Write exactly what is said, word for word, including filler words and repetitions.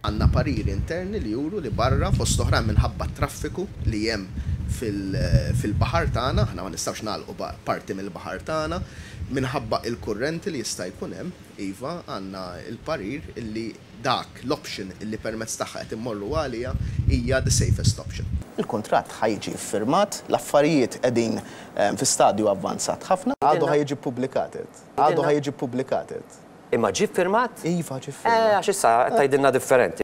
Għandna pariri interni li juru li barra, fost oħrajn minħabba traffiku li hemm fil-baħar tagħna, aħna ma nistgħux nagħlqu parti mill-baħar tagħna, minħabba il-kurrenti li jista' jkun hemm, iva, għandna il-parir illi dak l-option illi permezz tagħha qed immorru għalija hija the safest option. Il-kuntratt ħa jiġi ffirmat, l-affarijiet qegħdin fi stadju avvanzat ħafna, għadu ħa jiġi ppubblikat. Għadu ħa jiġi ppubblikat. Imma ġie ffirmat? Iva, ġie ffirmat. Eh, għax issa tgħidilna differenti.